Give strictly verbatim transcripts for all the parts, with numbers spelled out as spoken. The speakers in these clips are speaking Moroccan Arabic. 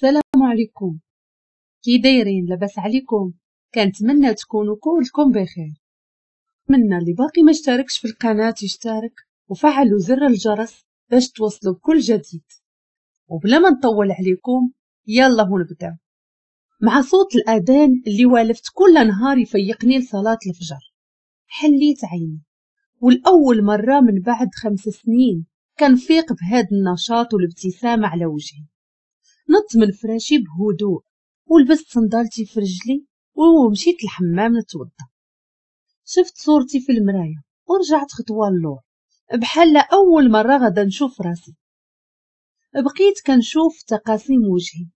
السلام عليكم. كي دايرين؟ لاباس عليكم؟ كنتمنى تكونوا كلكم بخير. نتمنى اللي باقي ما اشتركش في القناة يشترك وفعلوا زر الجرس باش توصلوا بكل جديد. وبلا ما نطول عليكم يلا نبداو مع صوت الاذان اللي والفت كل نهار يفيقني لصلاة الفجر. حليت عيني والاول مرة من بعد خمس سنين كنفيق بهذا النشاط والابتسامة على وجهي. نط من فراشي بهدوء ولبست صندالتي في رجلي ومشيت الحمام نتوضا. شفت صورتي في المراية ورجعت خطوة للور بحال اول مرة غدا نشوف راسي. بقيت كنشوف تقاسيم وجهي،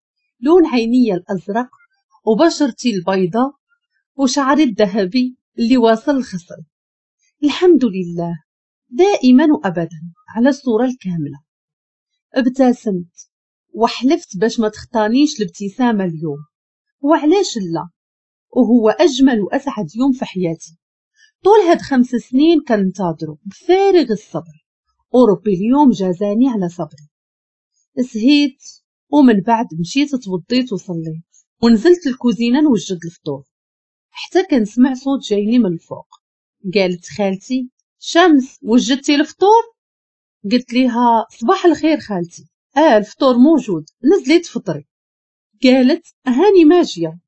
لون عيني الازرق وبشرتي البيضاء وشعري الذهبي اللي واصل لخصري. الحمد لله دائما وابدا على الصورة الكاملة. ابتسمت وحلفت باش ما تخطانيش الابتسامة اليوم، وعلاش لا، وهو اجمل واسعد يوم في حياتي. طول هاد خمس سنين كنتظرو بفارغ الصبر، وربي اليوم جازاني على صبري. سهيت ومن بعد مشيت توضيت وصليت ونزلت الكوزينة نوجد الفطور، حتى كنسمع صوت جايني من الفوق. قالت خالتي: شمس وجدتي الفطور؟ قلت ليها: صباح الخير خالتي، اه الفطور موجود، نزلي تفطري. قالت: هاني ماجيه،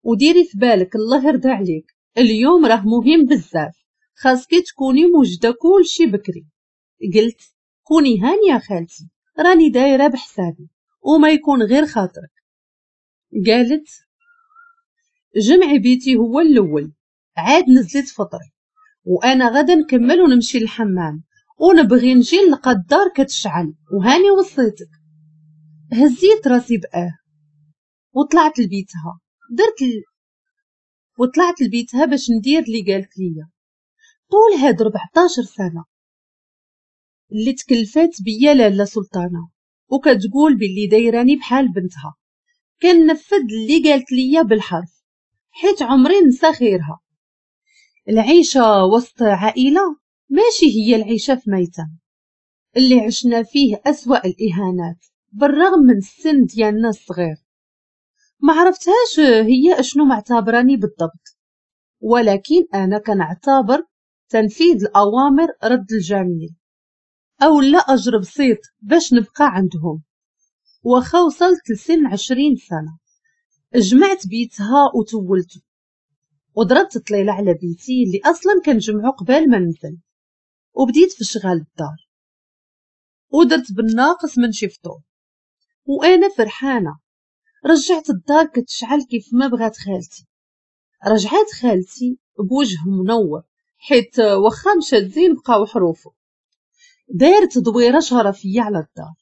وديري في بالك الله يرضى عليك اليوم راه مهم بزاف، خاصك تكوني موجده كلشي بكري. قلت: كوني هانيه خالتي، راني دايرة بحسابي وما يكون غير خاطرك. قالت: جمعي بيتي هو الاول، عاد نزلت فطري وانا غدا نكمل ونمشي للحمام ونبغي نجي نلقى الدار كتشعل وهاني وصيتك. هزيت راسي باه وطلعت لبيتها، درت ل... وطلعت لبيتها باش ندير اللي قالت ليا. طول هاد أربعطاش سنة اللي تكلفات بيا لاله سلطانه وكتقول باللي دايراني بحال بنتها، كنفذ اللي قالت ليا بالحرف حيت عمري نسى خيرها. العيشة وسط عائلة ماشي هي العيشة في ميتم اللي عشنا فيه اسوا الاهانات بالرغم من السن ديالنا الصغير. ما عرفتهاش هي اشنو معتبراني بالضبط، ولكن انا كنعتبر تنفيذ الاوامر رد الجميل او لا اجر بسيط باش نبقى عندهم. واخا وصلت لسن عشرين سنة جمعت بيتها وتولته وضربت طليله على بيتي اللي اصلا كنجمعو قبل ما ننزل، وبديت في شغال الدار ودرت بالناقص من شي فطور وانا فرحانة. رجعت الدار كتشعل كيف ما بغات خالتي. رجعت خالتي بوجه منور حيت واخا مشات زين بقاو حروفه. دارت دويره شرفيه على الدار،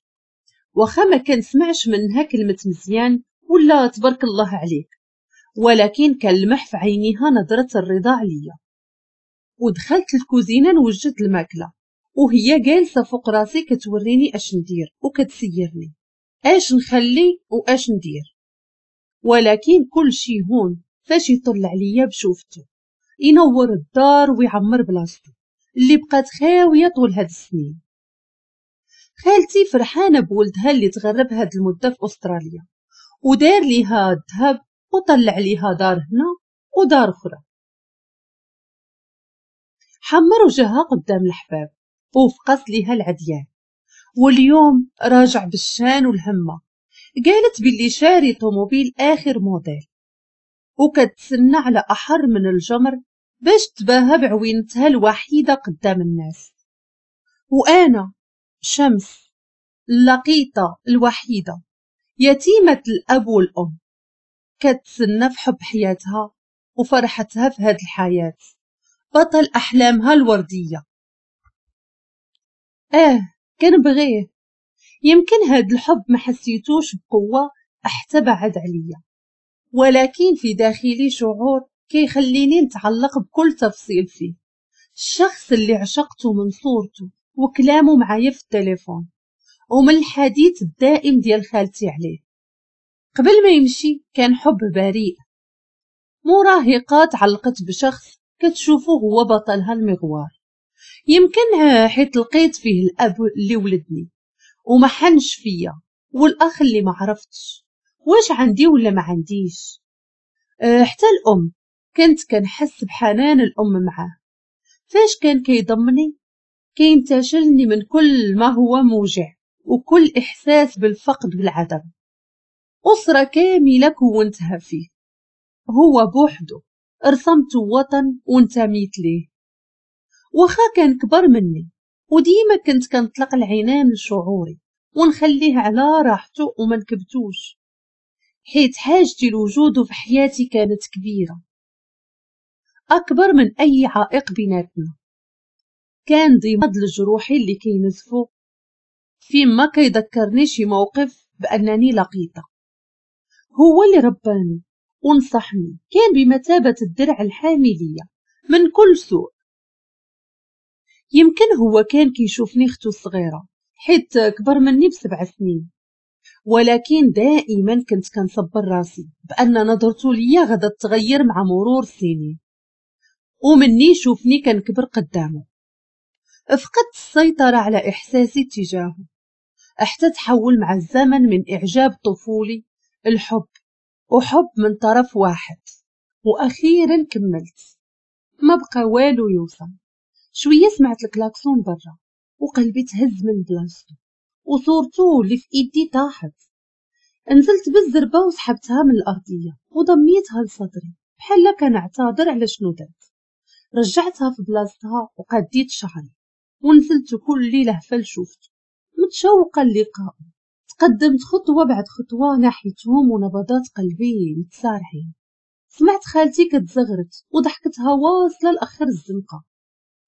واخا ما كنسمعش منها كلمة مزيان ولا تبارك الله عليك، ولكن كنلمح في عينيها نظره الرضا عليا. ودخلت الكوزينة نوجد الماكلة وهي جالسة فوق راسي كتوريني اش ندير وكتسيرني اش نخلي واش ندير، ولكن كل شي هون فاش يطل عليا بشوفته ينور الدار ويعمر بلاصتو اللي بقات خاوية طول هاد السنين. خالتي فرحانة بولدها اللي تغرب هاد المدة في استراليا ودار ليها الذهب وطلع ليها دار هنا ودار اخرى. حمر وجهها قدام الحباب وفقس ليها العديان، واليوم راجع بالشان والهمه. قالت باللي شاري طوموبيل اخر موديل وكتسنى على احر من الجمر باش تباهى بعوينتها الوحيدة قدام الناس. وانا شمس اللقيطه الوحيدة يتيمة الاب والام كتسنى في حب حياتها وفرحتها في هاد الحياة، بطل احلامها الوردية. اه كنبغيه، يمكن هاد الحب ما حسيتوش بقوة حتى بعد عليا، ولكن في داخلي شعور كيخليني نتعلق بكل تفصيل فيه. الشخص اللي عشقته من صورته وكلامه معايا في التليفون ومن الحديث الدائم ديال خالتي عليه قبل ما يمشي كان حب بريء. مراهقة تعلقت بشخص كتشوفه هو بطلها المغوار، يمكن حيت لقيت فيه الاب اللي ولدني وما حنش فيا، والاخ اللي ما عرفتش، واش عندي ولا ما عنديش. أه حتى الأم كنت كنحس بحنان الأم معاه، فاش كان كيضمني كينتشلني من كل ما هو موجع وكل إحساس بالفقد والعدم. أسرة كاملة كونتها فيه، هو بوحده رسمت وطن وانتميت ليه. واخا كان كبر مني وديما كنت كنطلق العنان لشعوري ونخليه على راحته وما نكبتوش، حيت حاجتي لوجوده في حياتي كانت كبيرة أكبر من أي عائق بيناتنا. كان ضماد لجروحي اللي كينزفو فيما كيذكرني شي موقف بأنني لقيطة. هو اللي رباني ونصحني، كان بمثابة الدرع الحامي ليا من كل سوء. يمكن هو كان كيشوفني اختو الصغيرة حيت كبر مني بسبع سنين، ولكن دائما كنت كنصبر راسي بأن نظرته ليا غدا تغير مع مرور السنين، ومني يشوفني كنكبر قدامه. فقدت السيطرة على إحساسي تجاهه حتى تحول مع الزمن من إعجاب طفولي الحب، وحب من طرف واحد. وأخيرا كملت، ما بقى والو يوصل. شوية سمعت الكلاكسون برا وقلبي تهز من بلاصتو، وصورته اللي في ايدي طاحت. نزلت بالزربة وسحبتها من الأرضية وضميتها لصدري بحال كنعتذر على شنو درت. رجعتها في بلاصتها وقديت شعري ونزلت كل لهفة لشوفته، متشوقة للقاء. تقدمت خطوة بعد خطوة ناحيتهم ونبضات قلبي متسارعين. سمعت خالتي كتزغرت وضحكتها واصلة لآخر الزنقة.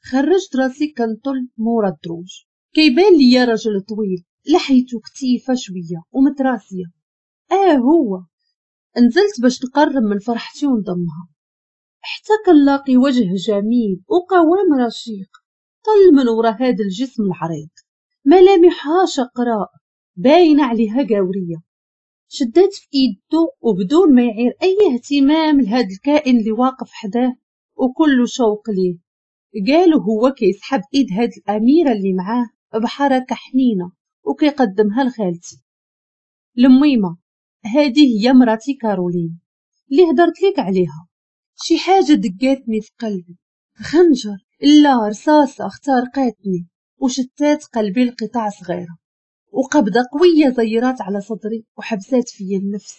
خرجت راسي كنطل مورا الدروج، كيبان ليا رجل طويل لحيته كتيفة شوية ومتراسية. اه هو. نزلت باش نقرب من فرحتي ونضمها، حتى كنلاقي وجه جميل وقوام رشيق طل من ورا هذا الجسم العريض، ملامحها شقراء باينة عليها قاورية. شدات في ايدو وبدون ما يعير اي اهتمام لهذا الكائن اللي واقف حداه وكله شوق ليه، قالوا هو كيسحب ايد هاد الاميرة اللي معاه بحركة حنينه وكيقدمها لخالتي. الميمه هذه هي مراتي كارولين اللي هدرت لك عليها. شي حاجة دقاتني في قلبي، خنجر لا رصاصة اخترقتني وشتات قلبي لقطع صغيرة، وقبضه قوية زيرات على صدري وحبسات فيا النفس.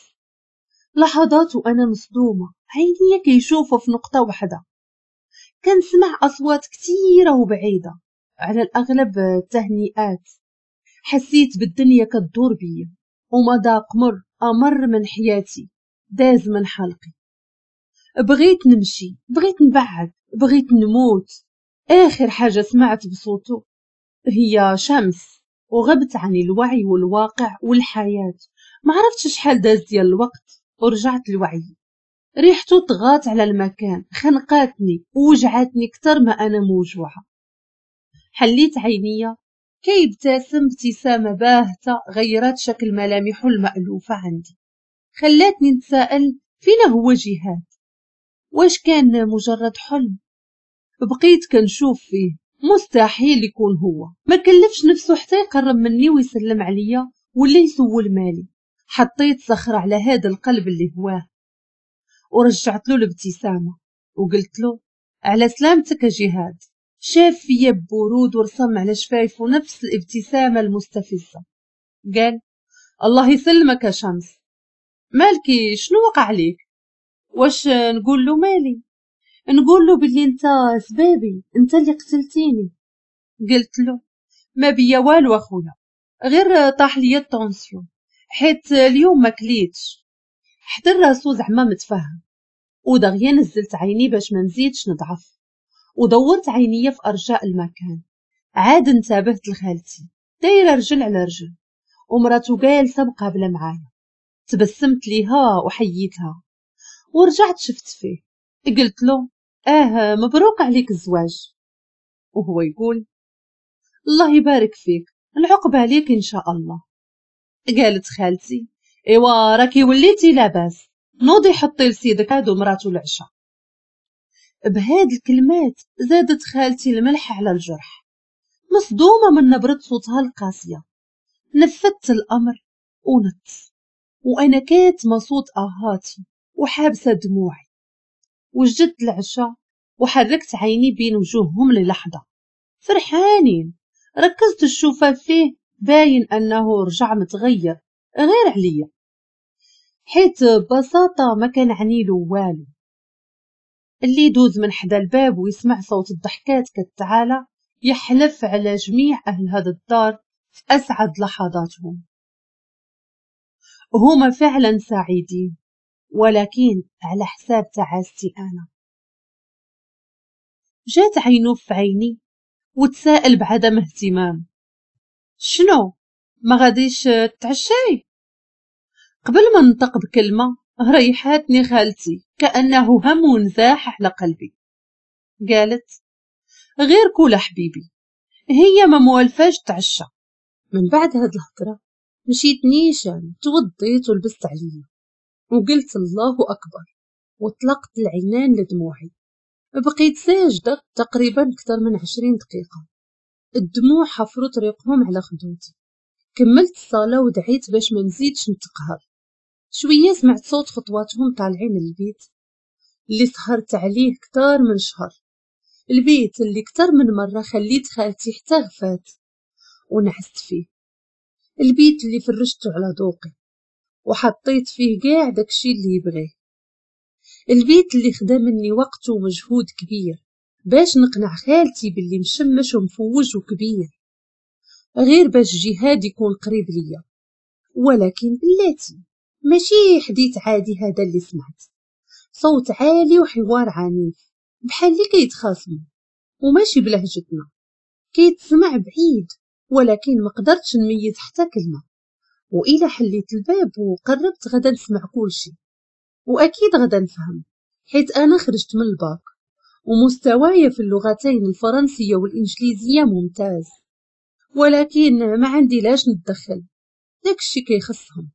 لحظات وانا مصدومة، عينيا كيشوفوا في نقطة واحدة. كنسمع اصوات كثيرة وبعيدة، على الاغلب تهنئات. حسيت بالدنيا كتدور بيا ومذاق مر امر من حياتي داز من حلقي. بغيت نمشي، بغيت نبعد، بغيت نموت. اخر حاجة سمعت بصوته هي شمس، وغبت عن الوعي والواقع والحياة. ما عرفتش شحال داز ديال الوقت ورجعت لوعي. ريحته طغات على المكان، خنقاتني ووجعتني كتر ما انا موجوعه. حليت عينيا كيبتسم ابتسامة باهته غيرت شكل ملامحه المألوفه عندي، خلاتني نتساءل فينا هو جهاد؟ واش كان مجرد حلم؟ بقيت كنشوف فيه، مستحيل يكون هو. ما كلفش نفسه حتى يقرب مني ويسلم عليا ولا يسول مالي. حطيت صخرة على هذا القلب اللي هواه ورجعت له الابتسامة وقلت له على سلامتك يا جهاد. شاف فيا ببرود ورسم على شفايفه نفس الابتسامة المستفزة. قال الله يسلمك يا شمس، مالكي شنو وقع عليك؟ واش نقول له مالي؟ نقول له باللي انت سبابي، انت اللي قتلتيني. قلت له ما بيا والو اخويا، غير طاح ليا ال tension حيت اليوم ما كليتش. حتى راسو زعما متفهم، ودغيا نزلت عيني باش ما نزيدش نضعف، ودورت عينيا في ارجاء المكان. عاد انتبهت لخالتي دايرة رجل على رجل ومراتو جالسة مقابله معايا. تبسمت ليها وحييتها ورجعت شفت فيه. قلت له اه مبروك عليك الزواج. وهو يقول الله يبارك فيك، العقبة عليك ان شاء الله. قالت خالتي ايوا راكي وليتي لاباس، نوضي حطي لسيدك هادو مراتو العشاء. بهاد الكلمات زادت خالتي الملح على الجرح، مصدومة من نبرة صوتها القاسية. نفذت الأمر ونت. وأنا كاتمة صوت آهاتي وحابسة دموعي. وجدت العشاء وحركت عيني بين وجوههم للحظة فرحانين. ركزت الشوفة فيه، باين أنه رجع متغير غير عليا، حيت ببساطة ما كان عنيلو والو. اللي يدوز من حدا الباب ويسمع صوت الضحكات كتعالى يحلف على جميع أهل هذا الدار في أسعد لحظاتهم. هما فعلا سعيدين، ولكن على حساب تعاستي أنا. جات عينو في عيني وتساءل بعدم اهتمام: شنو ما غاديش تعشاي؟ قبل ما ننطق بكلمة ريحاتني خالتي كأنه هم ونزاح على قلبي. قالت: غير كول حبيبي، هي ما موالفاش تعشى. من بعد هاد الهضرة مشيت نيشان توضيت ولبست عليا وقلت الله أكبر، وطلقت العنان لدموعي. بقيت ساجدة تقريبا أكثر من عشرين دقيقة، الدموع حفروا طريقهم على خدودي. كملت الصلاة ودعيت باش ما نزيدش نتقهر. شوية سمعت صوت خطواتهم طالعين للبيت اللي سهرت عليه كتار من شهر، البيت اللي كتر من مرة خليت خالتي حتى غفات ونعست فيه، البيت اللي فرشته على ذوقي وحطيت فيه كاع داكشي اللي يبغيه، البيت اللي خدا مني وقت ومجهود كبير باش نقنع خالتي باللي مشمش ومفوج وكبير، غير باش جهاد يكون قريب ليا. ولكن بلاتي ماشي حديث عادي هذا اللي سمعت، صوت عالي وحوار عنيف بحال اللي كيتخاصموا، وماشي بلهجتنا، كيتسمع بعيد، ولكن ما قدرتش نميز حتى كلمة. وإلا حليت الباب وقربت غدا نسمع كلشي، وأكيد غدا نفهم، حيت أنا خرجت من الباك ومستواي في اللغتين الفرنسية والإنجليزية ممتاز، ولكن ما عندي لاش نتدخل، داكشي كيخصهم.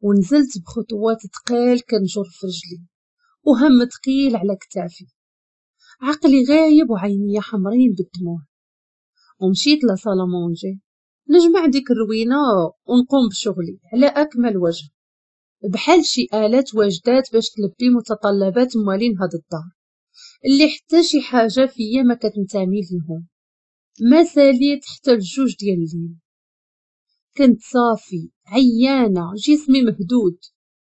ونزلت بخطوات ثقال كنجر في رجلي وهم ثقيل على كتافي، عقلي غايب وعيني حمرين بالدموع. ومشيت la salle à manger نجمع ديك الروينه ونقوم بشغلي على اكمل وجه، بحال شي آلات واجدات باش تلبي متطلبات موالين هاد الدار اللي حتى شي حاجة فيا ما كتنتمي ليهم. ما ساليت حتى الجوج ديال الليل، كنت صافي عيانه، جسمي مهدود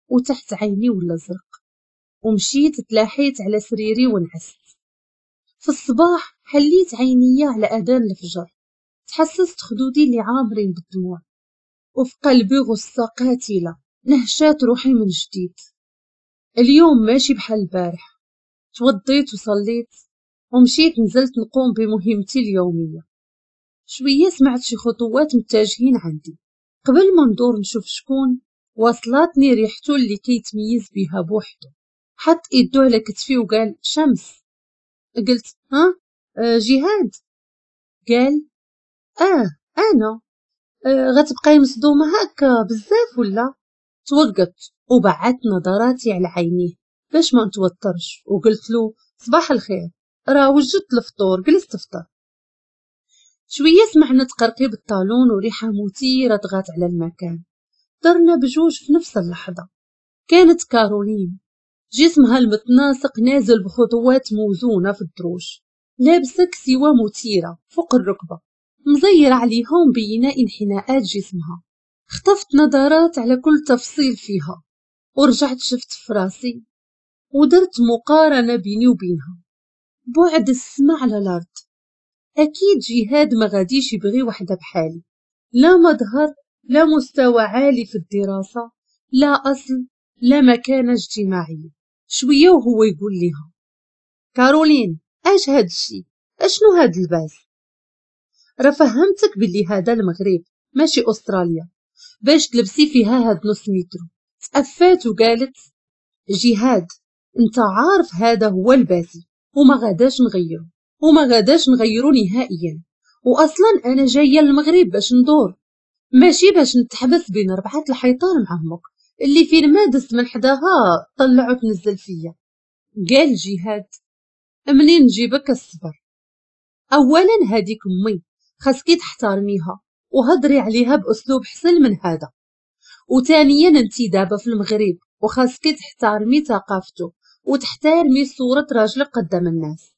وتحت عيني ولا زرق. ومشيت تلاحيت على سريري ونعست. في الصباح حليت عيني على اذان الفجر، تحسست خدودي اللي عامرين بالدموع، وفي قلبي غصة قاتله نهشات روحي من جديد. اليوم ماشي بحال البارح، توضيت وصليت ومشيت نزلت نقوم بمهمتي اليومية. شوية سمعت شي خطوات متجهين عندي، قبل ما ندور نشوف شكون وصلتني ريحته اللي كيتميز بها بوحده. حط ايدو على كتفي وقال: شمس. قلت: ها آه جهاد. قال: اه انا. آه غتبقاي مصدومة هكا بزاف ولا؟ توقفت وبعدت نظراتي على عينيه باش ما نتوترش، وقلت له: صباح الخير، راه وجدت الفطور، جلست تفطر. شوية سمعنا تقرقيب الطالون وريحه مثيرة طغات على المكان. درنا بجوج في نفس اللحظة. كانت كارولين، جسمها المتناسق نازل بخطوات موزونة في الدروج، لابسه كسوه مثيرة فوق الركبة مزيره عليها ومبينه انحناءات جسمها. خطفت نظرات على كل تفصيل فيها، ورجعت شفت في راسي ودرت مقارنة بيني وبينها. بعد السما على الارض. اكيد جهاد ما غاديش يبغي وحده بحالي، لا مظهر، لا مستوى عالي في الدراسة، لا اصل، لا مكانه اجتماعية. شوية وهو يقول لها: كارولين، اش هاد الشي؟ اشنو هاد اللباس؟ راه فهمتك باللي هذا المغرب ماشي استراليا باش تلبسي فيها هاد نص متر. تأفات وقالت: جهاد، انت عارف هذا هو لباسي وما غاداش نغيرو، وما غاداش نغيرو نهائيا، واصلا انا جاية للمغرب باش ندور، ماشي باش نتحبس بين ربعه الحيطان مع امك اللي فين ما دزت من حداها طلعوا تنزل فيا. قال جهاد: منين نجيبك الصبر؟ اولا هذيك امي خاصك تحترميها وهضري عليها باسلوب حسن من هذا. وثانيا انت دابا في المغرب وخاصك تحترمي ثقافته وتحترمي صورة راجلك قدام الناس.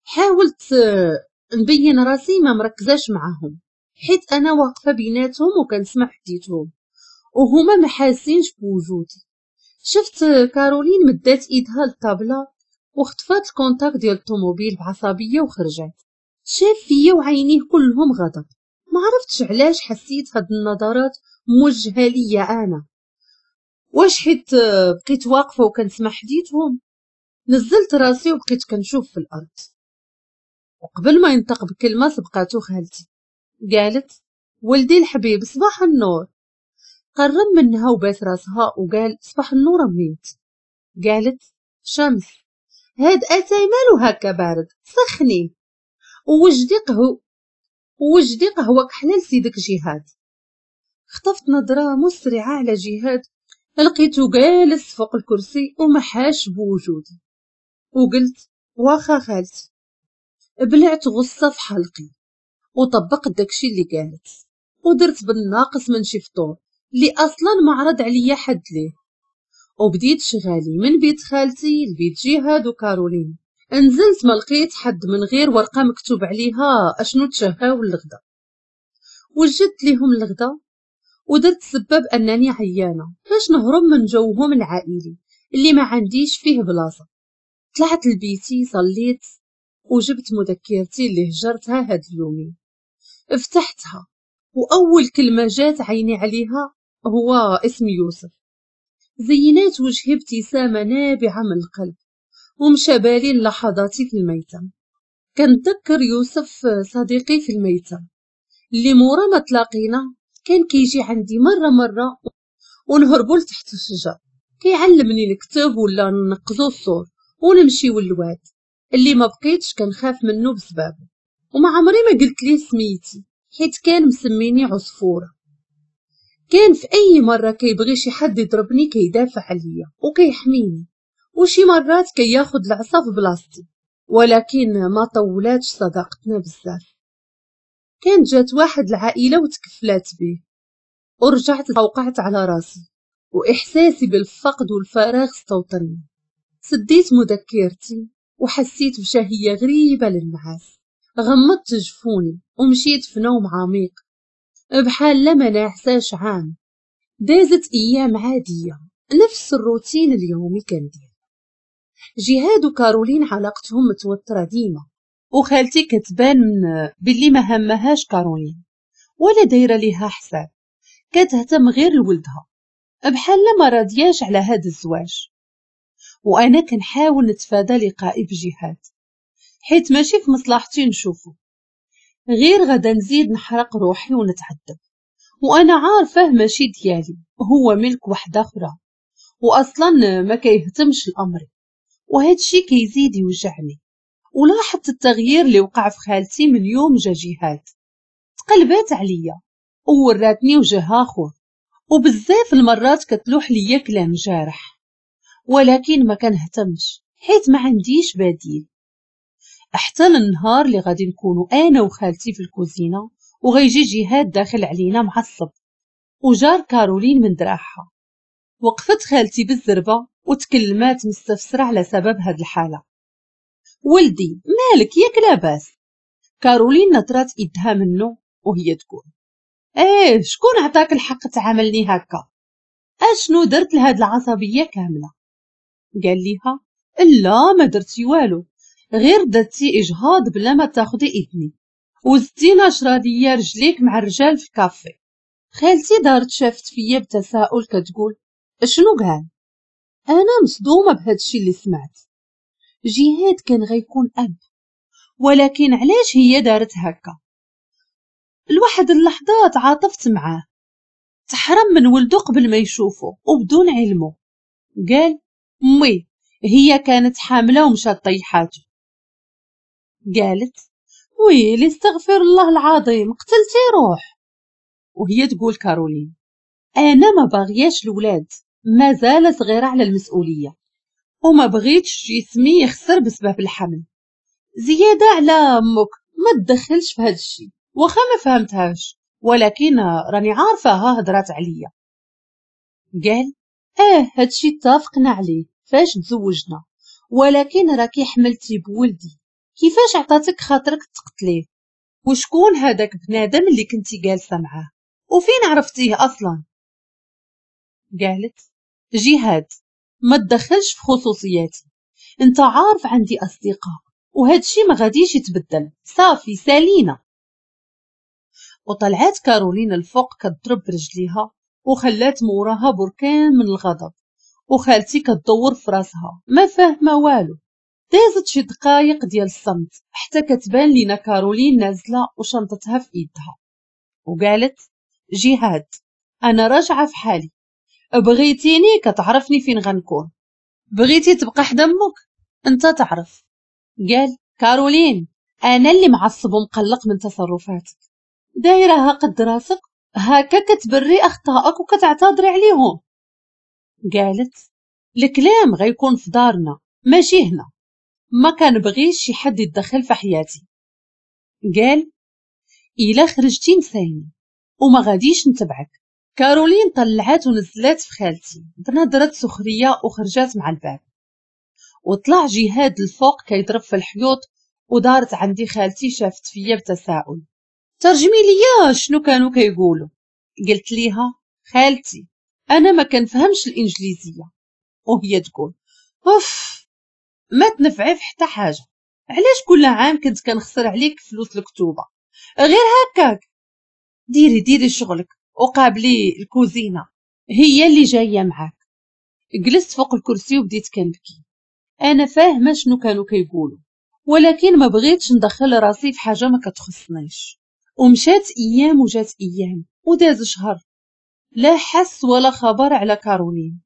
حاولت نبين راسي ما مركزاش معاهم حيت انا واقفة بيناتهم وكنسمع حديثهم وهما ما حاسينش بوجودي. شفت كارولين مدات ايدها للطابله وخطفات ال contact ديال الطوموبيل بعصبيه وخرجت. شاف فيا وعينيه كلهم غضب، ما عرفتش علاش حسيت هاد النظرات موجهة ليا انا، واش حيت بقيت واقفة وكنسمع حديثهم؟ نزلت راسي وبقيت كنشوف في الارض. وقبل ما ينطق بكلمه سبقاتو خالتي، قالت ولدي الحبيب صباح النور. قرب منها وباس راسها وقال صباح النور اميمتي. قالت شمس هاد اتاي مالو هكا بارد، سخني ووجدي قهوة ووجدي قهوة كحلة لسيدك جهاد. خطفت نظره مسرعة على جهاد، لقيته جالس فوق الكرسي وما حاش بوجودي، وقلت واخا خالتي. بلعت غصة في حلقي وطبقت داكشي اللي قالت، ودرت بالناقص من شي فطور اللي اصلا ما عرض عليا حد ليه، وبديت شغالي من بيت خالتي لبيت جهاد وكارولين. نزلت ما لقيت حد من غير ورقة مكتوب عليها اشنو تشهاو الغدا. وجدت ليهم الغدا ودرت سبب انني عيانه باش نهرب من جوهم العائلي اللي ما عنديش فيه بلاصة. طلعت لبيتي صليت وجبت مذكرتي اللي هجرتها هاد اليومين، فتحتها واول كلمة جات عيني عليها هو اسم يوسف. زينات وجهي ابتسامة نابعة من القلب ومشى بالي لحظاتي في الميتم. كنتذكر يوسف صديقي في الميتم اللي مورا ما تلاقينا كان كيجي عندي مرة مرة ونهربوا لتحت الشجر، كيعلمني نكتب ولا ننقزو الصور ونمشيو للواد اللي ما بقيتش كنخاف منه بسبابه. وما عمري ما قلت ليه سميتي حيت كان مسميني عصفوره. كان في اي مرة كيبغي شي حد يضربني كيدافع عليا وكيحميني، وشي مرات كياخد العصا في بلاصتي، ولكن ما طولاتش صداقتنا بزاف. كانت جات واحد العائلة وتكفلات به، ورجعت وقعت على راسي واحساسي بالفقد والفراغ استوطني. سديت مذكرتي وحسيت بشهيه غريبة للنعاس، غمضت جفوني ومشيت في نوم عميق بحال لا ما نعساش عام. دازت ايام عادية نفس الروتين اليومي كندير. جهاد وكارولين علاقتهم متوترة ديما، وخالتي كتبان باللي ما همهاش كارولين ولا دايرة ليها حساب، كتهتم غير لولدها بحال ما راضياش على هذا الزواج. وانا كنحاول نتفادى لقائي بجهاد حيت ماشي في مصلحتي نشوفه، غير غدا نزيد نحرق روحي ونتعذب، وانا عارفه ماشي ديالي، هو ملك وحده اخرى واصلا ما كيهتمش الامر، وهذا الشيء كيزيد يوجعني. ولاحظت التغيير اللي وقع في خالتي من يوم جا جهاد، تقلبات عليا ووراتني وجه اخر، وبزاف المرات كتلوح ليا كلام جارح، ولكن ما كنهتمش حيت ما عنديش بديل. حتى النهار اللي غادي نكونوا انا وخالتي في الكوزينة وغيجي جهاد داخل علينا معصب وجار كارولين من دراعها. وقفت خالتي بالزربه وتكلمات مستفسره على سبب هاد الحالة. ولدي مالك ياك لاباس؟ كارولين نطرات ايدها منه وهي تقول ايه شكون عطاك الحق تعاملني هكا؟ اشنو درت لهاد العصبية كاملة؟ قال ليها لا ما درتي والو، غير درتي اجهاض بلا ما تاخدي اذني وزدتي نشره ليا رجليك مع الرجال في الكافي. خالتي دارت شافت فيا بتساؤل كتقول شنو قال؟ انا مصدومة بهذا الشيء اللي سمعت. جهاد كان غيكون اب، ولكن علاش هي دارت هكا؟ لواحد اللحظة تعاطفت معاه، تحرم من ولده قبل ما يشوفه وبدون علمه. قال امي هي كانت حامله ومشات طيحاته. قالت ويلي استغفر الله العظيم قتلتي روح. وهي تقول كارولين انا ما باغياش الولاد، مازال صغيرة على المسؤولية وما بغيتش جسمي يخسر بسبب الحمل، زيادة على امك ما تدخلش في هذا الشيء. واخا ما فهمتهاش ولكن راني عارفاها هضرات عليا. قال اه هادشي اتفقنا عليه فاش تزوجنا، ولكن راكي حملتي بولدي، كيفاش عطاتك خاطرك تقتليه؟ وشكون هذاك بنادم اللي كنتي جالسة معاه وفين عرفتيه اصلا؟ قالت جهاد ما تدخلش في خصوصياتي، انت عارف عندي اصدقاء وهادشي ما غاديش يتبدل، صافي سالينا. وطلعات كارولين الفوق كتضرب برجليها وخلات موراها بركان من الغضب، وخالتي كتدور في راسها ما فاهمه والو. دازت شي دقايق ديال الصمت حتى كتبان لينا كارولين نازله وشنطتها في ايدها، وقالت جهاد انا راجعه في حالي، بغيتيني كتعرفني فين غنكون، بغيتي تبقى حدا امك انت تعرف. قال كارولين انا اللي معصب ومقلق من تصرفاتك، دايرها قد راسك هكا كتبري اخطائك وكتعتذري عليهم. قالت الكلام غيكون في دارنا ماشي هنا، ما كنبغيش شي حد يتدخل في حياتي. قال الا خرجتي نسايني وما غاديش نتبعك. كارولين طلعات ونزلات في خالتي بنظرة سخرية وخرجات مع الباب. وطلع جهاد الفوق كيضرب في الحيوط، ودارت عندي خالتي شافت فيا بتساؤل، ترجمي ليا شنو كانوا كيقولوا. قلت ليها خالتي انا ما كنفهمش الانجليزية، وهي تقول اوف ما تنفعي في حتى حاجة، علاش كل عام كنت كنخسر عليك فلوس الكتوبه غير هكاك؟ ديري ديري شغلك وقابلي الكوزينة هي اللي جاية معاك. جلست فوق الكرسي وبديت كنبكي، انا فاهمه شنو كانوا كيقولوا ولكن ما بغيتش ندخل راسي في حاجة ما كتخصنيش. ومشات ايام وجات ايام وداز شهر، لا حس ولا خبر على كارولين.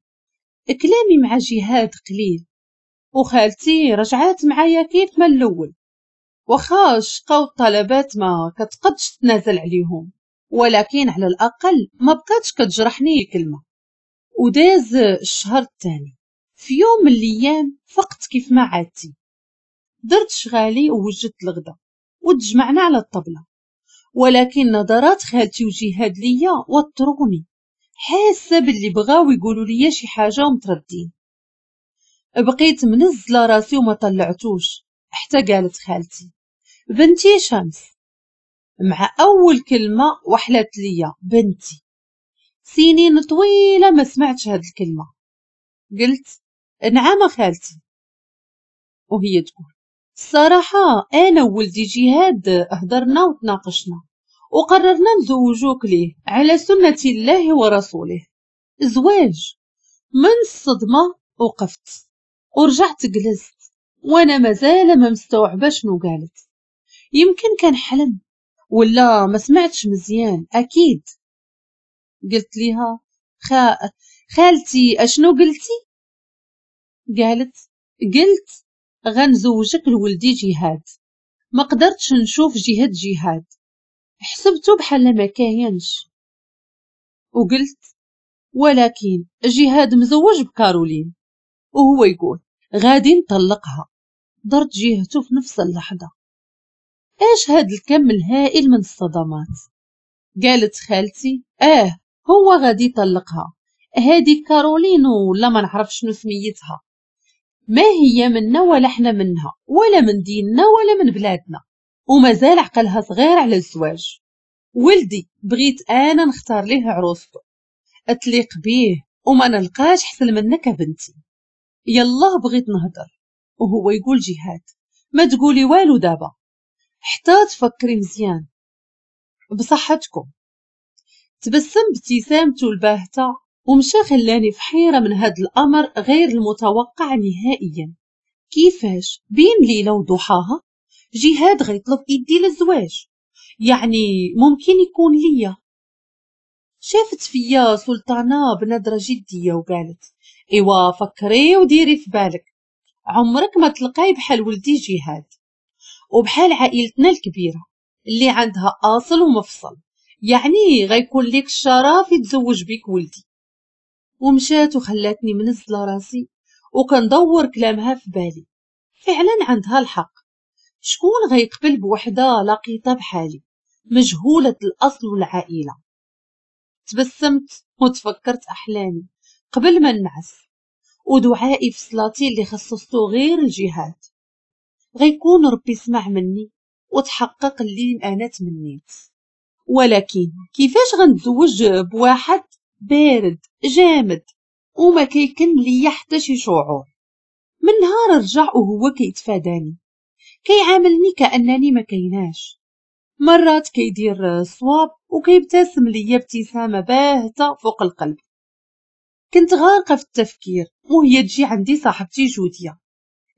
كلامي مع جهاد قليل، وخالتي رجعات معايا كيف ما الاول، واخا الشقا والطلبات ما كتقدش تنازل عليهم، ولكن على الاقل ما بقاتش كتجرحني كلمة. وداز الشهر الثاني، في يوم من الايام فقت كيف ما عادتي، درت شغالي ووجدت الغدا وتجمعنا على الطبلة، ولكن نظرات خالتي وجهاد ليا وتروني، حاسه باللي بغاو يقولوا لي شي حاجة ومتردين. بقيت منزله راسي وما طلعتوش حتى قالت خالتي بنتي شمس. مع اول كلمة وحلت ليا بنتي، سنين طويلة ما سمعتش هاد الكلمة. قلت نعم خالتي، وهي تقول الصراحة انا وولدي جهاد هضرنا وتناقشنا وقررنا نزوجوك ليه على سنة الله ورسوله. زواج. من الصدمة وقفت ورجعت جلست وانا مازال ما مستوعبة شنو قالت، يمكن كان حلم ولا ما سمعتش مزيان اكيد. قلت ليها خا... خالتي اشنو قلتي؟ قالت قلت غنزوجك لولدي جهاد. ما قدرتش نشوف جهاد جهاد، حسبته بحال ما كاينش. وقلت ولكن جهاد مزوج بكارولين، وهو يقول غادي نطلقها. درت جهته في نفس اللحظة. ايش هاد الكم الهائل من الصدمات؟ قالت خالتي اه هو غادي يطلقها، هادي كارولين ولا ما نعرف شنو سميتها، ما هي منا ولا حنا منها ولا من ديننا ولا من بلادنا، ومازال عقلها صغير على الزواج. ولدي بغيت انا نختار ليه عروسته اتليق بيه وما نلقاش حسن منك بنتي. يلا بغيت نهضر وهو يقول جهاد ما تقولي والو دابا حتى تفكري مزيان بصحتكم. تبسم ابتسامته الباهته ومشى، خلاني في حيره من هذا الامر غير المتوقع نهائيا. كيفاش بين ليلة وضحاها جهاد غيطلب ايدي للزواج؟ يعني ممكن يكون ليا. شافت فيا سلطانه بنظره جدية وقالت ايوا فكري وديري في بالك، عمرك ما تلقاي بحال ولدي جهاد وبحال عائلتنا الكبيرة اللي عندها اصل ومفصل، يعني غيكون ليك الشرف يتزوج بيك ولدي. ومشات وخلاتني منزله راسي وكندور كلامها في بالي. فعلا عندها الحق، شكون غيقبل بوحده لقيطه بحالي مجهولة الأصل والعائلة. تبسمت وتفكرت أحلامي قبل ما نعس ودعائي في صلاتي اللي خصصته غير الجهاد، غيكون ربي سمع مني وتحقق اللي أنا تمنيت. ولكن كيفاش غنتزوج بواحد بارد جامد وما كيكن ليا حتى شي شعور؟ من نهار رجع وهو كيتفاداني، كيعاملني كأنني ما كيناش. مرات كيدير صواب وكيبتسم ليا ابتسامة باهتة فوق القلب. كنت غارقة في التفكير وهي تجي عندي صاحبتي جودية،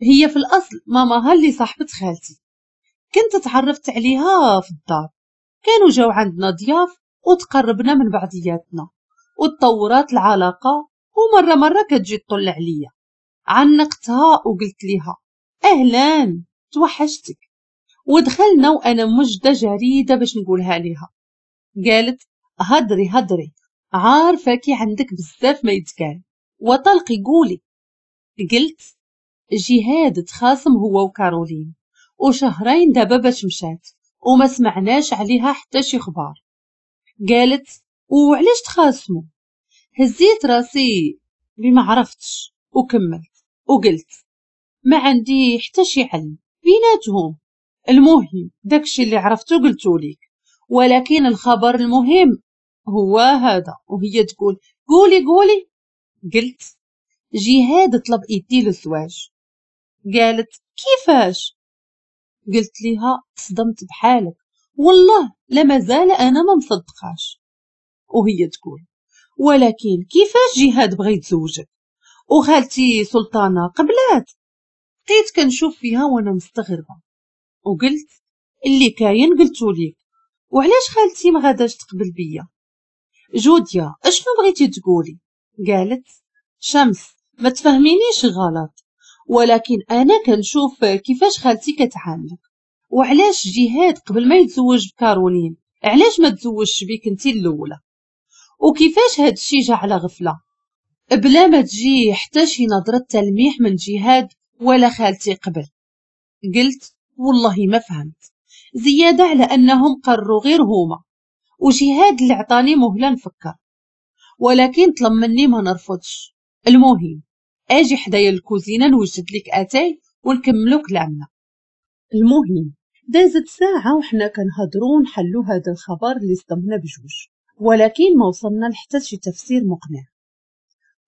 هي في الأصل ماماها اللي صاحبة خالتي، كنت تعرفت عليها في الدار، كانوا جاو عندنا ضياف وتقربنا من بعضياتنا وتطورات العلاقة، ومرة مرة كتجي تطل عليا. عنقتها وقلت لها أهلا توحشتك، ودخلنا وأنا مجدة جريدة باش نقولها ليها. قالت هدري هدري، عارفة كي عندك بزاف ما يتقال، وطلقي قولي. قلت جهاد تخاصم هو وكارولين وشهرين دابا باش مشات وما سمعناش عليها حتى شي خبار. قالت وعلاش تخاصموا؟ هزيت راسي بما عرفتش وكملت وقلت ما عندي حتى شي علم بيناتهم، المهم داكشي اللي عرفتو قلتو ليك، ولكن الخبر المهم هو هذا. وهي تقول قولي قولي. قلت جهاد طلب ايدي للزواج. قالت كيفاش؟ قلت لها تصدمت بحالك والله لا مازال انا ما مصدقاش. وهي تقول ولكن كيفاش جهاد بغى يتزوجك وخالتي سلطانة قبلات؟ بقيت كنشوف فيها وانا مستغربة وقلت اللي كاين قلتو ليك، وعلاش خالتي ما غاداش تقبل بيا؟ جوديا اشنو بغيتي تقولي؟ قالت شمس ما تفهمينيش غلط، ولكن انا كنشوف كيفاش خالتي كتعاملك، وعلاش جهاد قبل ما يتزوج بكارولين علاش ما تزوجش بيك انت الاولى، وكيفاش هاد الشي جا على غفلة بلا ما تجي حتى شي نظره تلميح من جهاد ولا خالتي قبل. قلت والله ما فهمت، زيادة على انهم قرروا غير هما، وجهاد اللي عطاني مهله نفكر، ولكن طلب مني ما نرفضش. المهم اجي حدايا الكوزينة نوجد لك اتاي ونكملو كلامنا. المهم دازت ساعة وحنا كنهضروا ونحلو هذا الخبر اللي صدمنا بجوج، ولكن ما وصلنا لحتى شي تفسير مقنع،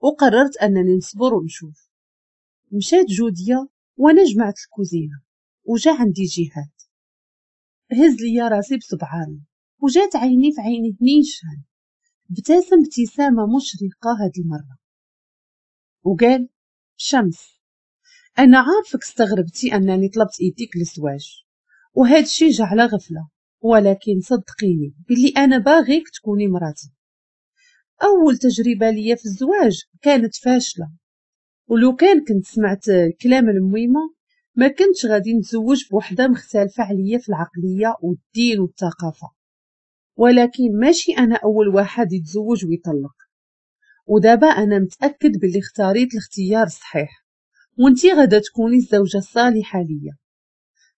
وقررت انني نصبر ونشوف. مشات جوديه وانا جمعت الكوزينة وجا عندي جهاد، هز ليا راسي بصبعاني وجات عيني في عيني نيشان، ابتسم ابتسامة مشرقة هاد المرة وقال شمس انا عارفك استغربتي انني طلبت ايديك للزواج وهاد الشي جا على غفلة، ولكن صدقيني باللي انا باغيك تكوني مراتي. اول تجربه ليا في الزواج كانت فاشلة، ولو كان كنت سمعت كلام الميمه ما كنتش غادي نتزوج بوحده مختلفة عليا في العقلية والدين والثقافة، ولكن ماشي انا اول واحد يتزوج ويطلق، ودابا انا متاكد باللي اختاريت الاختيار الصحيح وانتي غادا تكوني الزوجة الصالحة ليا.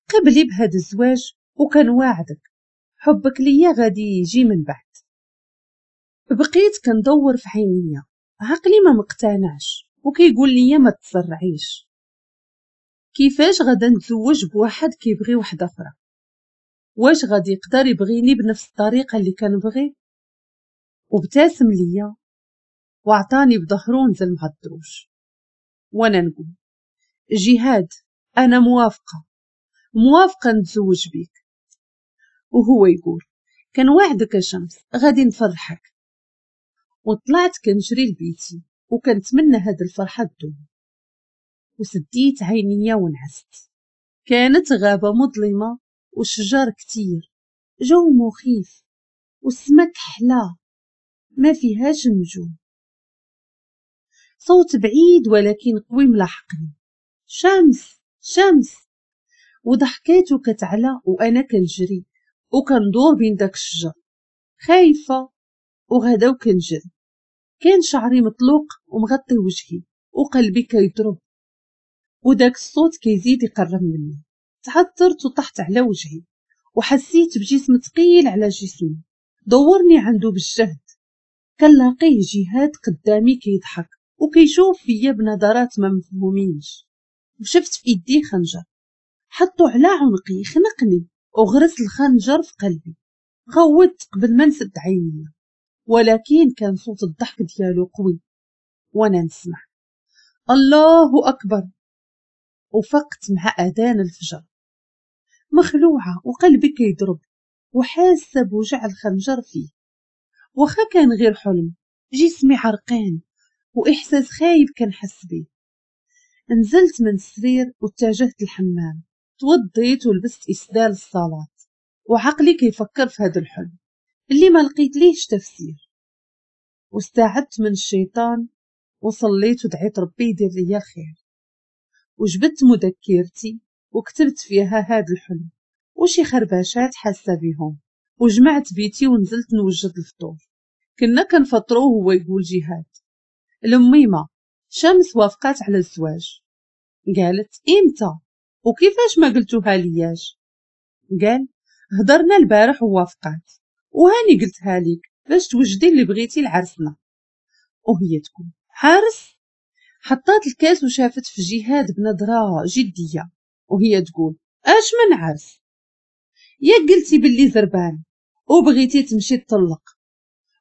قبلي بهذا الزواج وكنواعدك حبك ليا غادي يجي من بعد. بقيت كندور في عينيا، عقلي ما مقتنعش وكيقول لي ما تسرعيش، كيفاش غادا نتزوج بواحد كيبغي وحده اخرى؟ واش غادي يقدر يبغيني بنفس الطريقة اللي كنبغي؟ وابتسم ليا وعطاني بظهرو ونزل مع الدروج، وانا نقول جهاد انا موافقة موافقة نتزوج بيك، وهو يقول كنوعدك يا شمس غادي نفرحك. وطلعت كنجري لبيتي وكنتمنى هاد الفرحة تدوم، وسديت عينيا ونعست. كانت غابه مظلمة وشجر كتير، جو مخيف والسما كحلة ما فيهاش نجوم. صوت بعيد ولكن قوي ملاحقني، شمس شمس، وضحكاتو كتعلى وانا كنجري وكندور بين داك الشجر خايفة وغدا وكنجري. كان شعري مطلوق ومغطي وجهي وقلبي كيضرب، وداك الصوت كيزيد يقرب مني. تعثرت وطحت على وجهي وحسيت بجسم ثقيل على جسمي، دورني عنده بالجهد. كنلاقيه جهاد قدامي كيضحك وكيشوف فيا بنظرات ما مفهومينش، وشفت في ايديه خنجر حطو على عنقي، خنقني وغرس الخنجر في قلبي. غوت قبل ما نسد عيني، ولكن كان صوت الضحك ديالو قوي وانا نسمع الله اكبر. وفقت مع اذان الفجر مخلوعه وقلبي كيضرب وحاسه بوجع الخنجر فيه، واخا كان غير حلم. جسمي عرقان واحساس خايب كنحس بيه. نزلت من السرير واتجهت للحمام، توضيت ولبست اسدال الصلاة، وعقلي كيفكر في هذا الحلم اللي ما لقيت ليهش تفسير. واستعدت من الشيطان وصليت ودعيت ربي يدير ليا الخير، وجبت مذكرتي وكتبت فيها هذا الحلم وشي خرباشات حاسه بيهم، وجمعت بيتي ونزلت نوجد الفطور. كنا كنفطرو وهو يقول جهاد الميمه شمس وافقات على الزواج. قالت امتى وكيفاش ما قلتوها لياش؟ قال هضرنا البارح ووافقات، وهاني قلتها ليك باش توجدي اللي بغيتي لعرسنا. وهي تكون حارس. حطات الكاس وشافت في جهاد بنظره جدية وهي تقول اش من عرس؟ يا قلتي باللي زربان وبغيتي تمشي تطلق،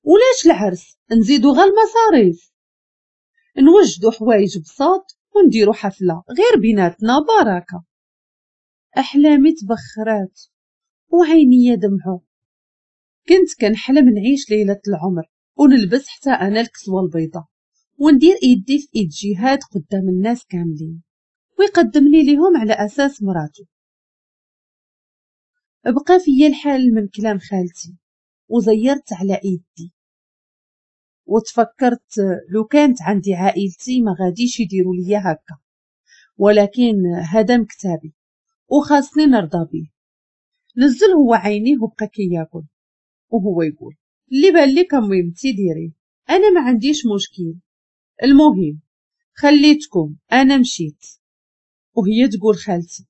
ولاش العرس؟ نزيدو غا المصاريف، نوجدو حوايج بساط ونديرو حفلة غير بيناتنا بركة. احلامي تبخرات وعيني دمعوا. كنت كنحلم نعيش ليلة العمر ونلبس حتى انا الكسوة البيضاء وندير ايدي في ايد جهاد قدام الناس كاملين ويقدمني ليهم على اساس مراته. بقى فيا الحال من كلام خالتي وزيرت على ايدي، وتفكرت لو كانت عندي عائلتي ما غاديش يديروا ليا هكا، ولكن هذا مكتابي وخاصني نرضى به. نزل هو عينيه وبقى كياكل وهو يقول اللي بان لك مهمتي ديريه، انا ما عنديش مشكل، المهم خليتكم انا مشيت. وهي تقول خالتي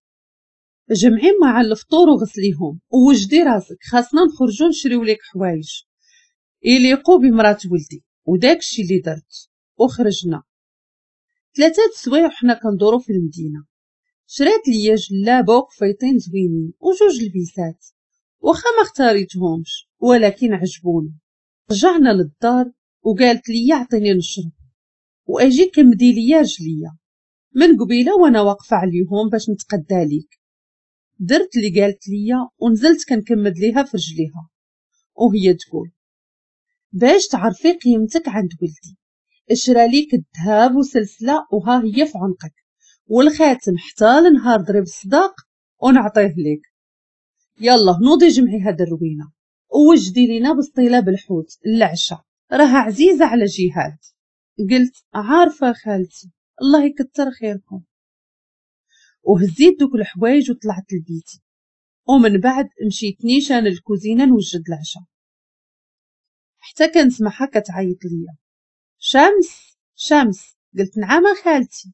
جمعي مع الفطور وغسليهم ووجدي راسك، خاصنا نخرجوا نشريو لك حوايج يليقوا بمرات ولدي. وداكشي اللي درت وخرجنا ثلاثة سوايع وحنا كندورو في المدينة. شرات ليا جلابه وقفيطين زوينين وجوج لبيسات، واخا ما اختاريتهمش ولكن عجبوني. رجعنا للدار وقالت لي عطيني نشرب واجي كمدي ليا رجليا من قبيلة وانا واقفة عليهم باش نتقدى ليك. درت اللي قالت ليا ونزلت كنكمد ليها في رجليها وهي تقول باش تعرفي قيمتك عند ولدي، اشرا ليك الذهب وسلسلة وها هي في عنقك، والخاتم حتى لنهار ضرب الصداق ونعطيه ليك. يلا نوضي جمعي هاد الروينه ووجدي لينا بسطيله بالحوت العشاء، راها عزيزه على جهاد. قلت عارفه خالتي الله يكثر خيركم. وهزيت دوك الحوايج وطلعت لبيتي، ومن بعد مشيت نيشان للكوزينه نوجد العشاء، حتى كنسمعها كتعيط ليا شمس شمس. قلت نعم خالتي.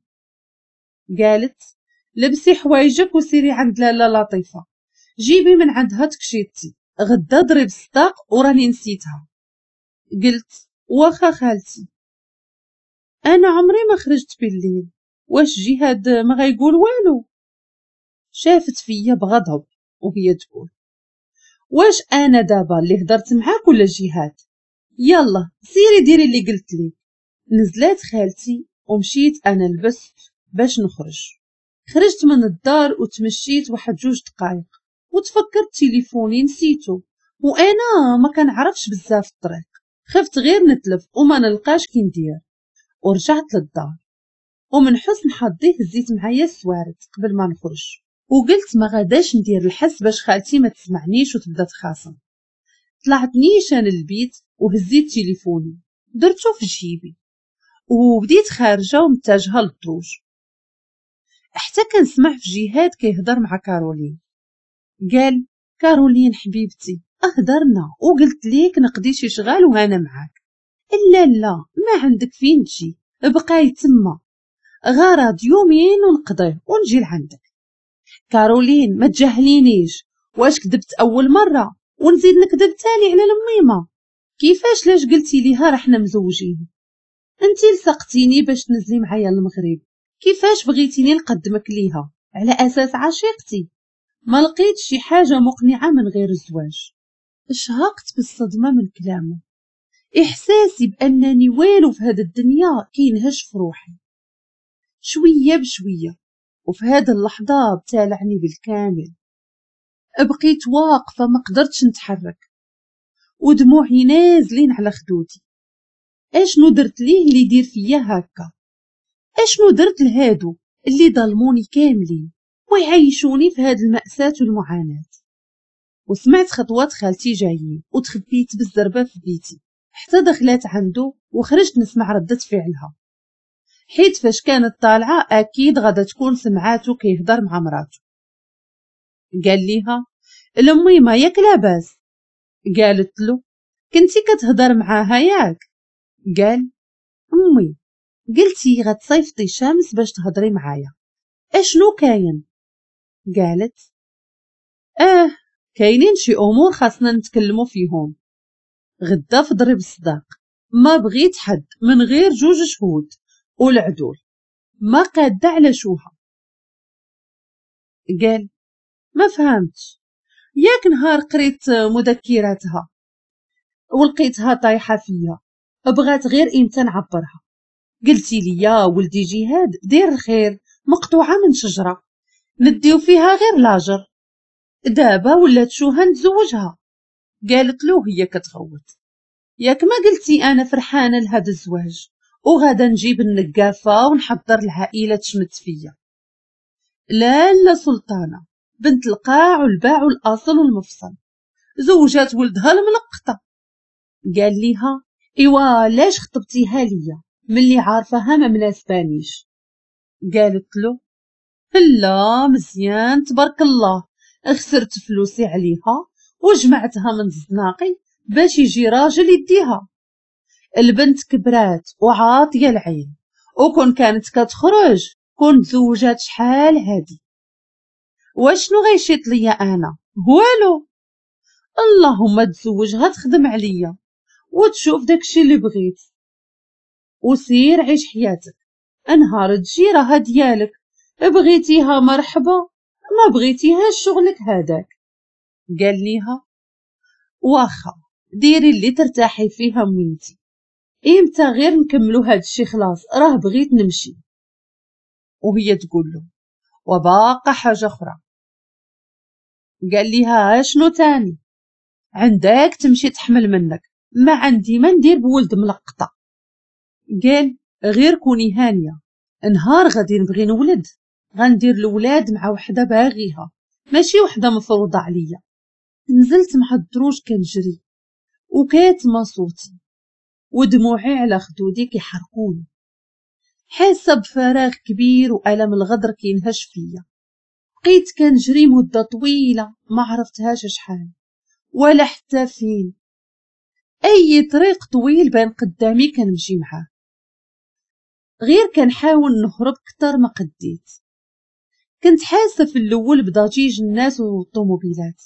قالت لبسي حوايجك وسيري عند لاله لطيفة جيبي من عندها تكشيطتي، غدا ضرب الصداق وراني نسيتها. قلت واخا خالتي. انا عمري ما خرجت بالليل، واش جهاد ما غيقول والو؟ شافت فيا بغضب وهي تقول واش انا دابا اللي هضرت معاك ولا جهاد؟ يلا سيري ديري اللي قلت لي. نزلات خالتي ومشيت انا لبست باش نخرج. خرجت من الدار وتمشيت واحد جوج دقائق وتفكرت تليفوني نسيتو، وانا ما كنعرفش بزاف الطريق، خفت غير نتلف وما نلقاش كي ندير. ورجعت للدار ومن حسن حظي هزيت معايا السوارت قبل ما نخرج، وقلت ما غاداش ندير الحس باش خالتي ما تسمعنيش وتبدا تخاصم. طلعت نيشان البيت وهزيت تليفوني درتو في جيبي وبديت خارجه ومتجهه للدروج، حتى كنسمع في جهاد كيهضر مع كارولين. قال كارولين حبيبتي اهدرنا وقلت ليك نقضي شي شغال وهانا معاك. لا لا ما عندك فين تجي، بقاي تما غرض يومين ونقضيه ونجي لعندك. كارولين ما تجاهلينيش واش كذبت اول مرة ونزيد نكذب تاني على الميمه؟ كيفاش لاش قلتي ليها راه حنا مزوجين؟ انتي لصقتيني باش تنزلي معايا للمغرب، كيفاش بغيتيني نقدمك ليها على اساس عشيقتي؟ ما لقيت شي حاجة مقنعة من غير الزواج. شهقت بالصدمة من كلامه، احساسي بانني والو في هذه الدنيا كينهش في روحي شوية بشوية، وفي هذه اللحظة ابتلعني بالكامل. بقيت واقفة ما قدرتش نتحرك ودموعي نازلين على خدودي. اشنو درت ليه اللي يدير فيا هكا؟ اشنو درت لهادو اللي ظلموني كاملين ويعيشوني في هاد المأساة والمعاناة؟ وسمعت خطوات خالتي جايين وتخبيت بالزربة في بيتي حتى دخلت عنده، وخرجت نسمع ردة فعلها، حيت فاش كانت طالعة أكيد غادا تكون سمعاتو كيهضر مع مراتو. قال ليها الميمة ياك لاباس؟ قالت له كنتي كتهضر معاها ياك؟ قال امي قلتي غتصيفطي شمس باش تهضري معايا، اشنو كاين؟ قالت اه كاينين شي امور خاصنا نتكلموا فيهم غدا في ضريب الصداق، ما بغيت حد من غير جوج شهود والعدول، ما قاده على شوها. قال ما فهمتش، ياك نهار قريت مذكراتها ولقيتها طايحة فيا، بغات غير امتى نعبرها. قلتي لي يا ولدي جهاد دير الخير مقطوعة من شجرة نديو فيها غير لاجر، دابا ولات شوها نتزوجها. قالت له هي كتغوت ياك ما قلتي انا فرحانة لهذا الزواج وغادا نجيب النقافه ونحضر العائلة تشمت فيا. لا لا سلطانه بنت القاع والباع والاصل والمفصل زوجات ولدها الملقطه. قال ليها ايوا لاش خطبتيها ليا ملي عارفاها ما مناسبانيش؟ قالت له لا مزيان تبارك الله، خسرت فلوسي عليها وجمعتها من الزناقي باش يجي راجل يديها. البنت كبرات وعاطيه العين، وكون كانت كتخرج كون تزوجات شحال هادي. واشنو غيشيط ليا انا؟ والو، اللهم تزوجها تخدم عليا وتشوف داكشي اللي بغيت وسير عيش حياتك، انهار تجي راها ديالك، بغيتيها مرحبا ما بغيتيهاش شغلك هذاك. قال ليها واخا ديري اللي ترتاحي فيها مينتي، امتى غير نكملو هاد الشي خلاص راه بغيت نمشي. وهي تقول له وباقا حاجة اخرى. قال ليها شنو تاني؟ عندك تمشي تحمل منك، ما عندي ما ندير بولد ملقطه. قال غير كوني هانيه، نهار غادي نبغي نولد غندير الولاد مع وحده باغيها ماشي وحده مفروضة عليا. نزلت مع الدروج كنجري وكاتمه صوتي ودموعي على خدودي كيحرقوني، حاسه بفراغ كبير والم الغدر كينهش فيا. بقيت كنجري مده طويلة ما عرفتهاش شحال ولا حتى فين، اي طريق طويل بان قدامي كنمشي معاه، غير كنحاول نهرب كتر ما قديت. كنت حاسه في الاول بضجيج الناس والطوموبيلات،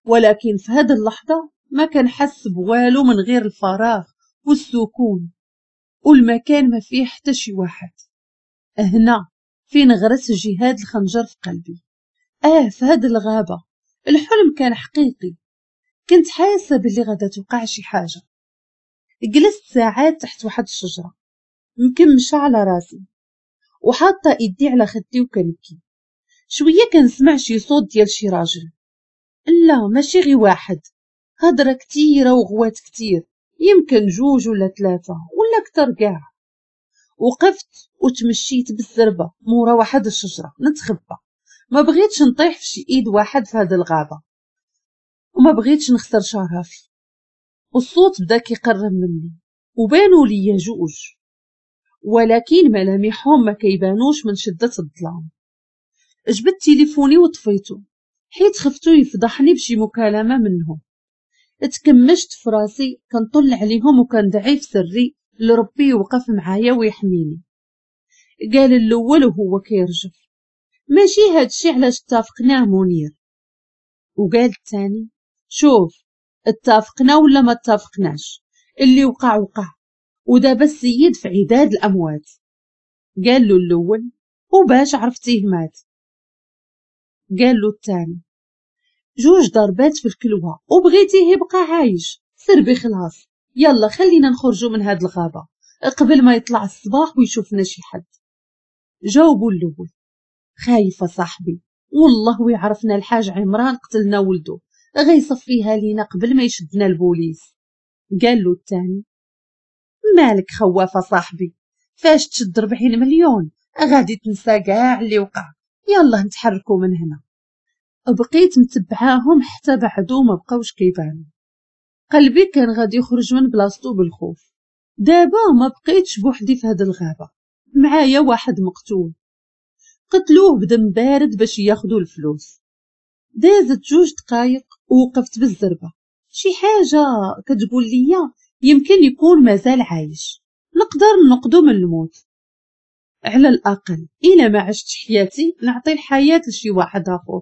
ولكن في هذه اللحظة ما كنحس بوالو من غير الفراغ والسكون والمكان ما فيه حتى شي واحد. هنا فين غرس جهاد الخنجر في قلبي. اه في هذه الغابة الحلم كان حقيقي، كنت حاسه باللي غادا توقع شي حاجة. جلست ساعات تحت واحد الشجرة مكمشه على راسي وحاطه ايدي على خدي وكنبكي. شوية كنسمع شي صوت ديال شي راجل، لا ماشي غير واحد، هضره كتيرة وغوات كتير، يمكن جوج ولا ثلاثة ولا اكثر كاع. وقفت وتمشيت بالزربه مورا واحد الشجرة نتخبى، ما بغيتش نطيح في شي ايد واحد في هذه الغابة وما بغيتش نخسر شرفي. والصوت بدا كيقرب مني وبانوا لي جوج، ولكن ملامحهم ما كيبانوش من شده الظلام. جبت تليفوني وطفيته حيت خفتو يفضحني بشي مكالمة منهم. تكمشت في راسي كنطل عليهم وكندعي في سري لربي يوقف معايا ويحميني. قال الاول وهو كيرجف ماشي هادشي علاش اتفقناه منير. وقال الثاني: شوف، اتفقنا ولا ما اتفقناش، اللي وقع وقع، ودابا السيد في عداد الاموات. قال له الاول: وباش عرفتيه مات؟ قال له الثاني: جوج ضربات في الكلوه وبغيتيه يبقى عايش، سربي خلاص، يلا خلينا نخرجوا من هاد الغابة قبل ما يطلع الصباح ويشوفنا شي حد. جاوبوا الاول: خايفة صاحبي، والله ويعرفنا الحاج عمران قتلنا ولده، غيصفيها لينا قبل ما يشدنا البوليس. قال له الثاني: مالك خوافه صاحبي، فاش تشد ربعين مليون غادي تنسى كاع اللي وقع، يلا نتحركوا من هنا. بقيت متبعاهم حتى بعدو ما بقاوش كيبانوا. قلبي كان غادي يخرج من بلاصتو بالخوف. دابا ما بقيتش بوحدي في هاد الغابة، معايا واحد مقتول، قتلوه بدم بارد باش ياخدو الفلوس. دازت جوج دقايق ووقفت بالزربه. شي حاجة كتقول ليا يمكن يكون مازال عايش، نقدر نقدو من الموت، على الاقل الا ما عشت حياتي نعطي الحياة لشي واحد اخر.